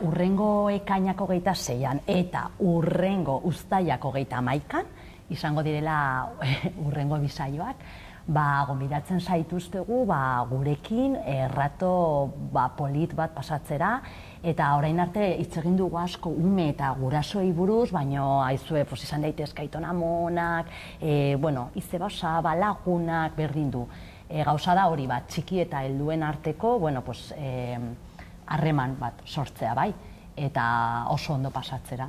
Urrengo ekainak 26an eta urrengo uztailak 31an, izango direla urrengo bisaioak, gonbidatzen zaituztegu gurekin errato polit bat pasatzera, eta orain arte hitz egin dugu asko ume eta gurasoei buruz, baina aizue izan daitezke aitona-amonak, izze basa, lagunak, berdin du. Gauza da hori bat, txiki eta helduen arteko, harreman bat sortzea bai, eta oso ondo pasatzera.